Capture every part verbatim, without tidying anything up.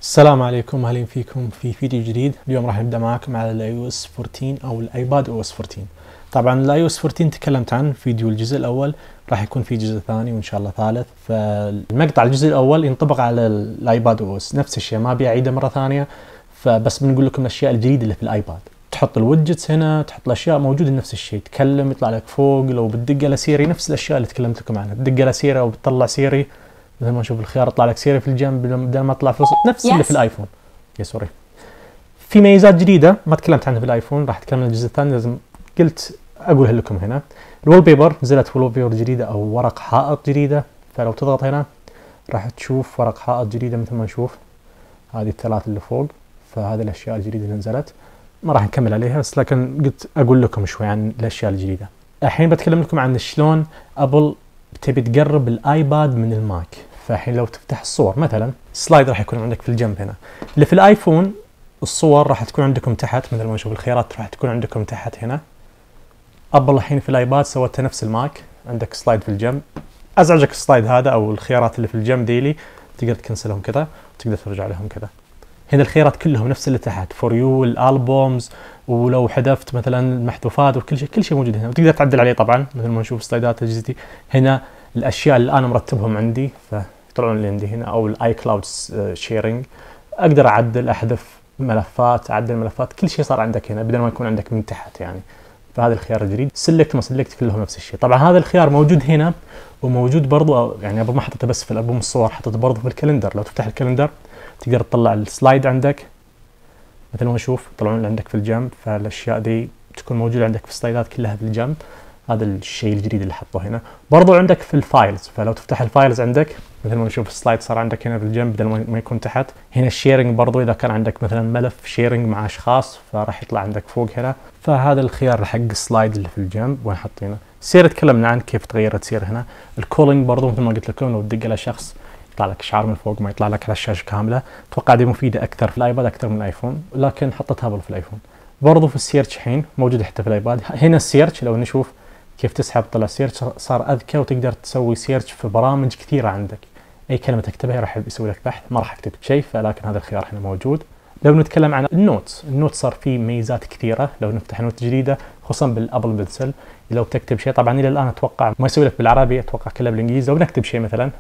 السلام عليكم، اهلا فيكم في فيديو جديد. اليوم راح نبدا معاكم على الاي او اس أربعة عشر او الايباد او اس أربعة عشر. طبعا الاي او اس أربعة عشر تكلمت عن فيديو الجزء الاول، راح يكون في جزء ثاني وان شاء الله ثالث. فالمقطع الجزء الاول ينطبق على الايباد او اس نفس الشيء، ما ابي اعيده مره ثانيه، فبس بنقول لكم الاشياء الجديده اللي في الايباد. تحط الويدجتس هنا، تحط الاشياء موجوده نفس الشيء، تكلم يطلع لك فوق، لو بتدق على سيري نفس الاشياء اللي تكلمت لكم عنها، تدق على سيري او بتطلع سيري مثل ما نشوف الخيار يطلع لك سيري في الجنب بدل ما تطلع في الوسط، نفس yes. اللي في الايفون. يا سوري، في ميزات جديده ما تكلمت عنها في الايفون، راح اتكلم عن الجزء الثاني، لازم قلت اقولها لكم هنا. الوول بيبر، نزلت وول بيبر جديده او ورق حائط جديده، فلو تضغط هنا راح تشوف ورق حائط جديده مثل ما نشوف هذه الثلاث اللي فوق. فهذه الاشياء الجديده اللي نزلت ما راح نكمل عليها، بس لكن قلت اقول لكم شوي عن الاشياء الجديده. الحين بتكلم لكم عن شلون ابل تبي تقرب الايباد من الماك. فالحين لو تفتح الصور مثلا، سلايد راح يكون عندك في الجنب هنا. اللي في الايفون الصور راح تكون عندكم تحت، مثل ما نشوف الخيارات راح تكون عندكم تحت هنا. ابل الحين في الايباد سوتها نفس الماك، عندك سلايد في الجنب. ازعجك السلايد هذا او الخيارات اللي في الجنب ديلي تقدر تكنسلهم كذا وتقدر ترجع لهم كذا. هنا الخيارات كلهم نفس اللي تحت، فور يو، الالبومز، ولو حذفت مثلا المحذوفات وكل شيء، كل شيء موجود هنا وتقدر تعدل عليه طبعا مثل ما نشوف سلايدات اجهزتي. هنا الاشياء اللي انا مرتبهم عندي فيطلعون لي عندي هنا، او الاي كلاود شيرنج، اقدر اعدل احذف ملفات، اعدل ملفات، كل شيء صار عندك هنا بدل ما يكون عندك من تحت يعني. فهذا الخيار الجديد. سلكت ما سلكت كلهم نفس الشيء. طبعا هذا الخيار موجود هنا وموجود برضو، يعني ابو ما حطيته بس في الالبوم الصور، حطيته برضو في الكالندر. لو تفتح الكالندر تقدر تطلع السلايد عندك مثل ما نشوف يطلعون عندك في الجنب، فالاشياء دي تكون موجوده عندك في السلايدات كلها في الجنب. هذا الشيء الجديد اللي حطوه هنا. برضو عندك في الفايلز، فلو تفتح الفايلز عندك مثل ما نشوف السلايد صار عندك هنا في الجنب بدل ما يكون تحت. هنا الشيرنج برضو، اذا كان عندك مثلا ملف شيرنج مع اشخاص فراح يطلع عندك فوق هنا. فهذا الخيار حق السلايد اللي في الجنب وين حاطينه. سير تكلمنا عن كيف تغيرت سير هنا. الكولينج برضو مثل ما قلت لكم، لو تدق على شخص يطلع لك اشعار من فوق، ما يطلع لك على الشاشه كامله. اتوقع دي مفيده اكثر في الايباد اكثر من الايفون، لكن حطتها برضو في الايفون. برضو في السيرش الحين موجوده حتى في الايباد. هنا السيرش لو نشوف كيف تسحب طلع سيرش صار اذكى، وتقدر تسوي سيرش في برامج كثيره عندك. اي كلمه تكتبها راح يسوي لك بحث، ما راح اكتب شيء، فلكن هذا الخيار هنا موجود. لو نتكلم عن النوتس، النوت صار فيه ميزات كثيره. لو نفتح نوت جديده خصوصا بالابل بنسل، لو بتكتب شيء، طبعا الى الان اتوقع ما يسوي لك بالعربي، اتوقع كله بالانجليزي. لو بنكتب شيء مثلا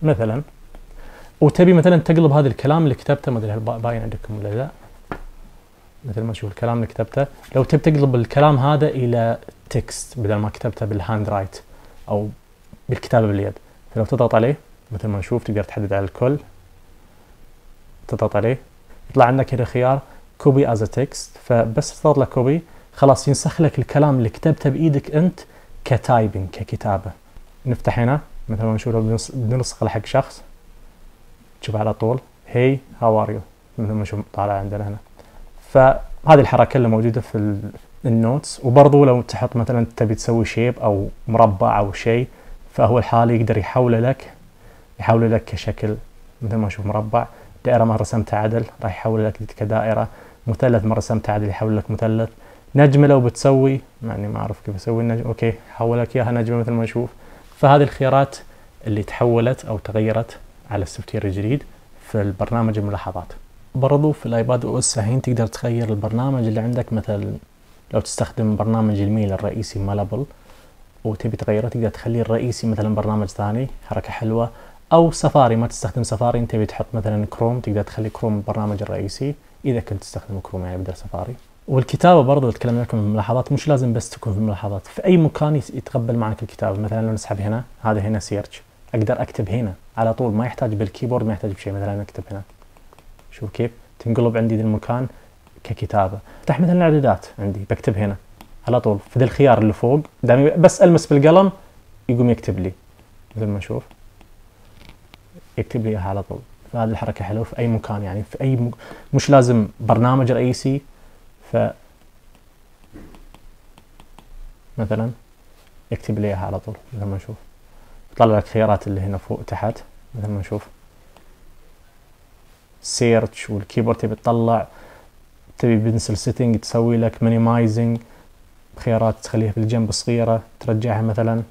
مثلا وتبي مثلا تقلب هذا الكلام اللي كتبته، ما ادري هل باين عندكم ولا لا، مثل ما تشوف الكلام اللي كتبته، لو تبي تقلب الكلام هذا الى تكست بدل ما كتبته بالهاند رايت او بالكتابه باليد، فلو تضغط عليه مثل ما نشوف تقدر تحدد على الكل، تضغط عليه يطلع عندك هنا خيار كوبي از تكست. فبس تضغط له كوبي خلاص ينسخ لك الكلام اللي كتبته بايدك انت كتايبنج ككتابه. نفتح هنا مثل ما نشوف لو بننسخ حق شخص، تشوف على طول هي هاو ار يو مثل ما نشوف طالع عندنا هنا. فهذه الحركه اللي موجوده في النوتس. وبرضو لو تحط مثلا تبي تسوي شيب او مربع او شيء، فهو الحالي يقدر يحوله لك يحوله لك كشكل مثل ما نشوف مربع. دائره ما رسمتها عدل راح يحول لك كدائره، مثلث ما رسمتها عدل يحول لك مثلث. نجمه لو بتسوي، يعني ما اعرف كيف اسوي النجم، اوكي حول لك اياها نجمه مثل ما نشوف. فهذه الخيارات اللي تحولت او تغيرت على السوفت وير الجديد في البرنامج الملاحظات. برضو في الايباد او اس الحين تقدر تغير البرنامج اللي عندك. مثل لو تستخدم برنامج الميل الرئيسي مال ابل وتبي تغيره، تقدر تخليه الرئيسي مثلا برنامج ثاني، حركه حلوه. او سفاري ما تستخدم سفاري، انت تبي تحط مثلا كروم، تقدر تخلي كروم البرنامج الرئيسي اذا كنت تستخدم كروم يعني بدل سفاري. والكتابه برضو تكلمنا لكم في الملاحظات، مش لازم بس تكون في الملاحظات، في اي مكان يتقبل معك الكتابه. مثلا لو نسحب هنا، هذا هنا سيرش، اقدر اكتب هنا على طول، ما يحتاج بالكيبورد، ما يحتاج بشيء. مثلا اكتب هنا، شوف كيف تنقلب عندي ذا المكان ككتابه. افتح مثلا الاعدادات عندي، بكتب هنا على طول في ذا الخيار اللي فوق، دامي بس المس بالقلم يقوم يكتب لي مثل ما نشوف، يكتب لي اياها على طول. فهذه الحركه حلوه في اي مكان، يعني في اي م... مش لازم برنامج رئيسي. ف مثلا يكتب لي اياها على طول مثل ما نشوف، يطلع لك خيارات اللي هنا فوق تحت مثل ما نشوف سيرش. والكيبورد تبي تطلع، تبي بنسل سيتنج تسوي لك مينيمايزنج، خيارات تخليها في الجنب صغيره ترجعها مثلا.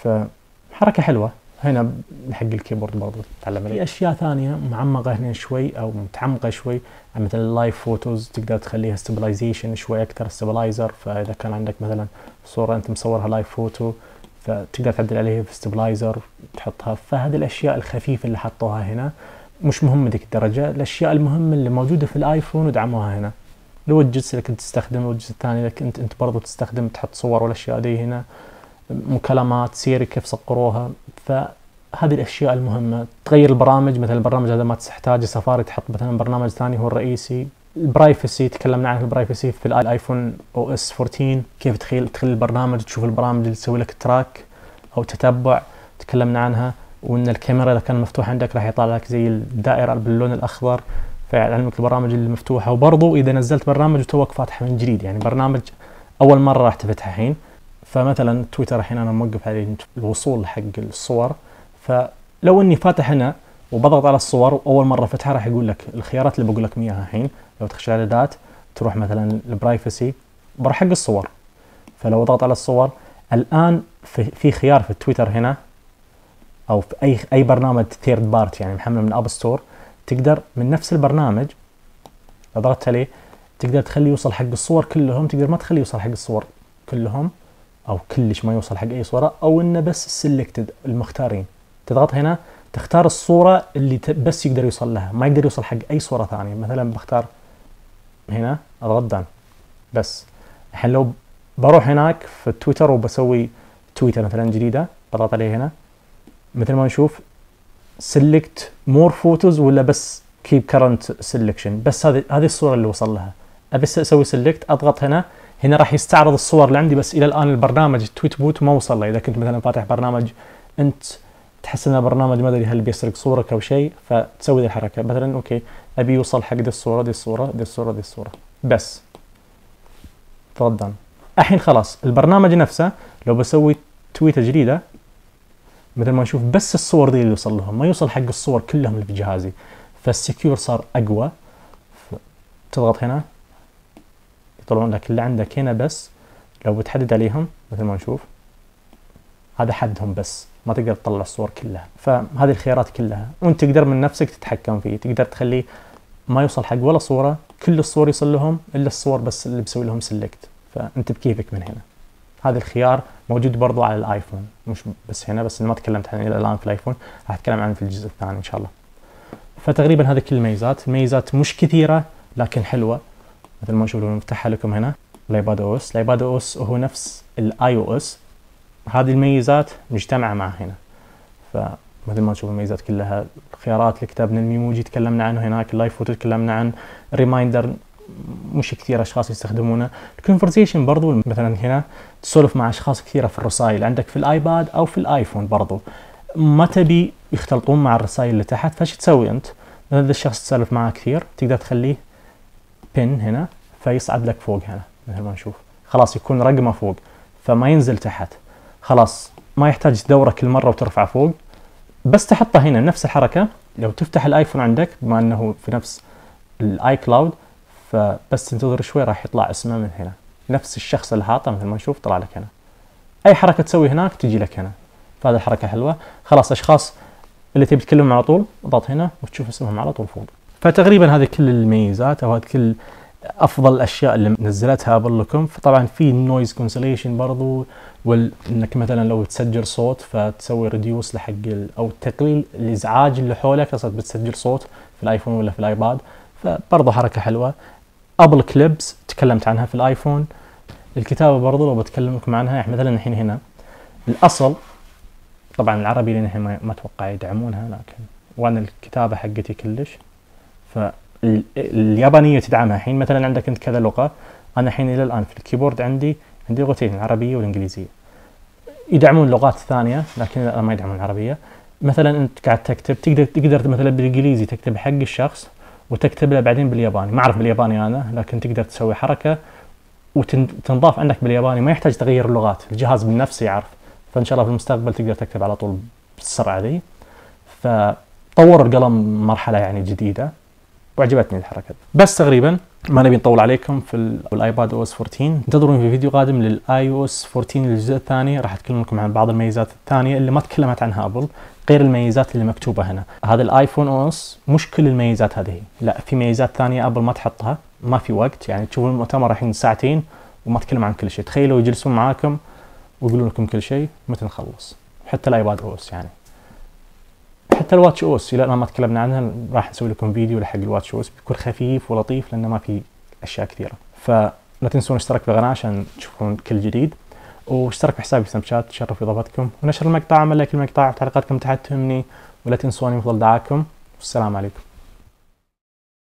فحركة حلوة هنا حق الكيبورد برضو تتعلم عليه. في اشياء ثانية معمقة هنا شوي او متعمقة شوي، مثل اللايف فوتوز تقدر تخليها ستابلايزيشن شوي اكثر، ستابلايزر. فاذا كان عندك مثلا صورة انت مصورها لايف فوتو فتقدر تعدل عليها في ستابلايزر تحطها. فهذه الاشياء الخفيفة اللي حطوها هنا مش مهمة ذيك الدرجة. الاشياء المهمة اللي موجودة في الايفون ودعموها هنا. الويدجتس اللي كنت تستخدم، الويدجت الثاني اللي كنت انت برضو تستخدم تحط صور والاشياء دي هنا، مكالمات سيري كيف صقروها. فهذه الاشياء المهمة. تغير البرامج، مثلا البرنامج هذا ما تحتاج سفاري تحط مثلا برنامج ثاني هو الرئيسي. البرايفسي تكلمنا عن البرايفسي في الايفون او اس أربعة عشر، كيف تخيل تخلي البرنامج تشوف البرامج اللي تسوي لك تراك او تتبع، تكلمنا عنها. وان الكاميرا اذا كان مفتوح عندك راح يطلع لك زي الدائرة باللون الاخضر فيعلمك البرامج اللي مفتوحة. وبرضو اذا نزلت برنامج وتوك فاتحه من جديد، يعني برنامج اول مرة راح تفتحه الحين، فمثلا تويتر الحين انا موقف عليه الوصول حق الصور، فلو اني فاتح هنا وبضغط على الصور واول مره فتحها راح يقول لك الخيارات اللي بقول لك اياها الحين. لو تخش على الاعدادات تروح مثلا البرايفسي بروح حق الصور، فلو ضغط على الصور الان في, في خيار في تويتر هنا او في اي اي برنامج ثيرد بارت يعني محمل من اب ستور، تقدر من نفس البرنامج لو ضغطت عليه تقدر تخليه يوصل حق الصور كلهم، تقدر ما تخليه يوصل حق الصور كلهم او كلش ما يوصل حق اي صوره، او انه بس السلكتد المختارين. تضغط هنا تختار الصوره اللي بس يقدر يوصل لها، ما يقدر يوصل حق اي صوره ثانيه. مثلا بختار هنا اضغط دان بس. الحين لو بروح هناك في تويتر وبسوي تويتر مثلا جديده بضغط عليه هنا، مثل ما نشوف سلكت مور فوتوز ولا بس كيب كرنت سلكشن، بس هذه هذه الصوره اللي وصل لها. ابي اسوي سلكت اضغط هنا، هنا راح يستعرض الصور اللي عندي، بس الى الان البرنامج التويت بوت ما وصل له. اذا كنت مثلا فاتح برنامج انت تحس ان البرنامج ما ادري هل بيسرق صورك او شيء، فتسوي ذي الحركه مثلا اوكي ابي يوصل حق دي الصوره دي الصوره دي الصوره دي الصوره بس. تفضل الحين خلاص البرنامج نفسه لو بسوي تويته جديده مثل ما نشوف بس الصور دي اللي يوصل لهم، ما يوصل حق الصور كلهم اللي في جهازي. فالسكيور صار اقوى. تضغط هنا يطلعون لك اللي عندك هنا، بس لو بتحدد عليهم مثل ما نشوف هذا حدهم بس، ما تقدر تطلع الصور كلها. فهذه الخيارات كلها وانت تقدر من نفسك تتحكم فيه، تقدر تخليه ما يوصل حق ولا صورة، كل الصور يوصل لهم الا الصور بس اللي بسوي لهم سيلكت. فانت بكيفك من هنا. هذا الخيار موجود برضو على الايفون، مش بس هنا، بس ما تكلمت عنه الى الان في الايفون، راح اتكلم عنه في الجزء الثاني ان شاء الله. فتقريبا هذه كل الميزات، الميزات مش كثيرة لكن حلوة. مثل ما نشوف لو نفتحها لكم هنا الايباد او اس، الايباد او اس هو نفس الاي او اس، هذه الميزات مجتمعة مع هنا. فمثل ما نشوف الميزات كلها، الخيارات اللي كتبنا الميموجي تكلمنا عنه هناك، اللايف فوتو تكلمنا عن، ريمايندر مش كثير اشخاص يستخدمونه، الكونفرسيشن برضو مثلا هنا تسولف مع اشخاص كثيرة في الرسائل عندك في الايباد او في الايفون برضو، ما تبي يختلطون مع الرسائل اللي تحت، فايش تسوي انت؟ مثلا اذا الشخص تسولف معه كثير تقدر تخليه بن هنا فيصعد لك فوق هنا مثل ما نشوف، خلاص يكون رقمه فوق فما ينزل تحت، خلاص ما يحتاج تدوره كل مره وترفعه فوق، بس تحطه هنا نفس الحركه. لو تفتح الايفون عندك بما انه في نفس الاي كلاود، فبس تنتظر شوي راح يطلع اسمه من هنا، نفس الشخص اللي حاطه مثل ما نشوف طلع لك هنا. اي حركه تسوي هناك تجي لك هنا، فهذه الحركه حلوه. خلاص اشخاص اللي تبي تكلمهم على طول اضغط هنا وتشوف اسمهم على طول فوق. فتقريبا هذه كل الميزات او هذه كل افضل الاشياء اللي نزلتها ابل لكم. فطبعا في نويز كونسليشن برضو، وانك مثلا لو تسجل صوت فتسوي ريديوس لحق او تقليل الازعاج اللي حولك، اصلا بتسجل صوت في الايفون ولا في الايباد، فبرضو حركه حلوه. ابل كليبس تكلمت عنها في الايفون. الكتابه برضو لو بتكلم لكم عنها، يعني مثلا الحين هنا الاصل طبعا العربي لان الحين ما اتوقع يدعمونها، لكن وانا الكتابه حقتي كلش، فاليابانيه تدعمها. الحين مثلا عندك انت كذا لغه، انا الحين الى الان في الكيبورد عندي عندي لغتين، العربيه والانجليزيه. يدعمون لغات ثانيه لكن الان ما يدعمون العربيه. مثلا انت قاعد تكتب تقدر تقدر مثلا بالانجليزي تكتب حق الشخص وتكتب له بعدين بالياباني، ما اعرف بالياباني انا، لكن تقدر تسوي حركه وتنضاف عندك بالياباني، ما يحتاج تغير اللغات، الجهاز بنفسه يعرف. فان شاء الله في المستقبل تقدر تكتب على طول بالسرعه ذي. فطور القلم مرحله يعني جديده. وعجبتني الحركه. بس تقريبا ما نبي نطول عليكم في الايباد او اس أربعة عشر. انتظروني في فيديو قادم للاي او اس أربعة عشر الجزء الثاني، راح اتكلم لكم عن بعض الميزات الثانيه اللي ما تكلمت عنها ابل غير الميزات اللي مكتوبه هنا. هذا الايفون او اس مش كل الميزات هذه، لا في ميزات ثانيه ابل ما تحطها، ما في وقت. يعني تشوفون المؤتمر الحين ساعتين وما تكلم عن كل شيء. تخيلوا يجلسون معاكم ويقولون لكم كل شيء متى نخلص. حتى الايباد او اس يعني، حتى الواتش او اس الى الان ما تكلمنا عنها، راح نسوي لكم فيديو لحق الواتش او اس بيكون خفيف ولطيف لانه ما في اشياء كثيره. فلا تنسون اشتراك في القناه عشان تشوفون كل جديد، واشترك في حسابي في سناب شات تشرف اضافتكم، ونشر المقطع، عمل لايك المقطع وتعليقاتكم تحت تهمني، ولا تنسوني مثل دعاكم. والسلام عليكم.